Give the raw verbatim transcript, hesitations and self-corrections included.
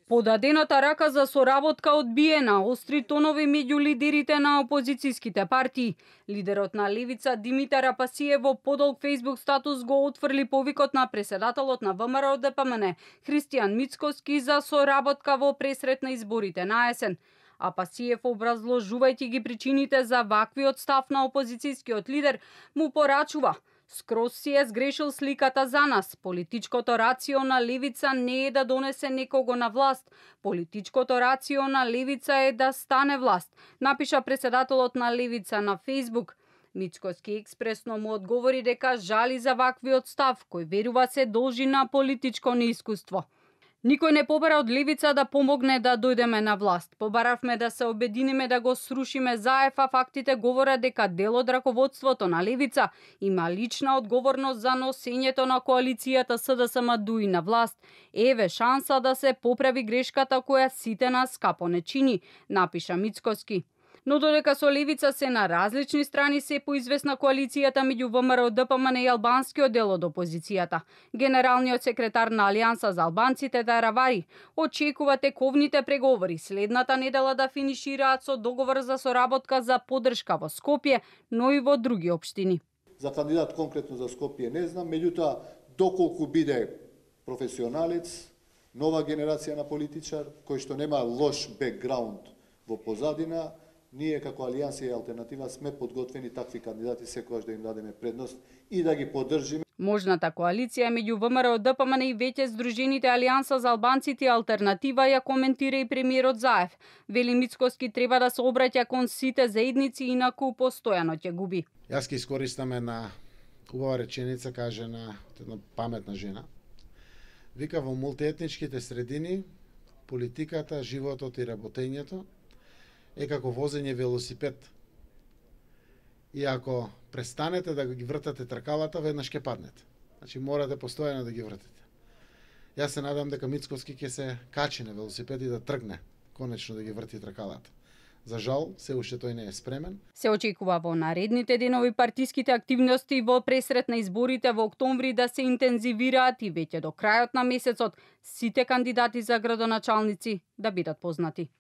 Подадената рака за соработка одбиена, остри тонови меѓу лидерите на опозицијските партии. Лидерот на Левица Димитар Апасиев во подолг Facebook статус го отфрли повикот на преседателот на ВМРО Д П М Н Христијан Мицкоски за соработка во пресрет на изборите на есен. Апасиев, образложувајќи ги причините за ваквиот став на опозицијскиот лидер, му порачува: скроз си е сгрешил сликата за нас. Политичкото рацио на Левица не е да донесе некого на власт. Политичкото рацио на Левица е да стане власт, напиша преседателот на Левица на Facebook. Мицкоски експресно му одговори дека жали за ваквиот став, кој верува се должи на политичко неискуство. Никој не побара од Левица да помогне да дојдеме на власт. Побаравме да се обединиме да го срушиме ЗАЕФ, а фактите говорат дека дел од раководството на Левица има лична одговорност за носењето на коалицијата С Д С М Д У И на власт. Еве шанса да се поправи грешката која сите нас капо не чини, напиша Мицкоски. Но додека со Левица се на различни страни, се поизвестна коалицијата меѓу ВМРО Д П М Н и албанскиот дел од опозицијата. Генералниот секретар на Алијанса за албанците Даравари очекува тековните преговори следната недела да финишираат со договор за соработка за поддршка во Скопје, но и во други општини. За кандидат конкретно за Скопје не знам, меѓутоа доколку биде професионалец, нова генерација на политичар кој што нема лош бекграунд во позадина, ние како Алијанса и Алтернатива сме подготвени такви кандидати секогаш да им дадеме предност и да ги поддржиме. Можната коалиција меѓу ВМРО Д П М Н и веќе здружените Алијанса за албанците и Алтернатива ја коментира и премиерот Заев. Вели Мицкоски треба да се обраќа кон сите заедници, инаку постојано ќе губи. Јас ќе искористам една убава реченица кажена од една паметна жена. Вика, во мултиетничките средини политиката, животот и работењето е како возење велосипед. И ако престанете да ги вртате тркалата, веднаш ќе паднете. Значи морате постојано да ги вртите. Јас се надам дека Мицкоски ќе се качи на велосипед и да тргне конечно да ги врти тркалата. За жал, се уште тој не е спремен. Се очекува во наредните денови партиските активности во пресрет на изборите во октомври да се интензивираат и веќе до крајот на месецот сите кандидати за градоначалници да бидат познати.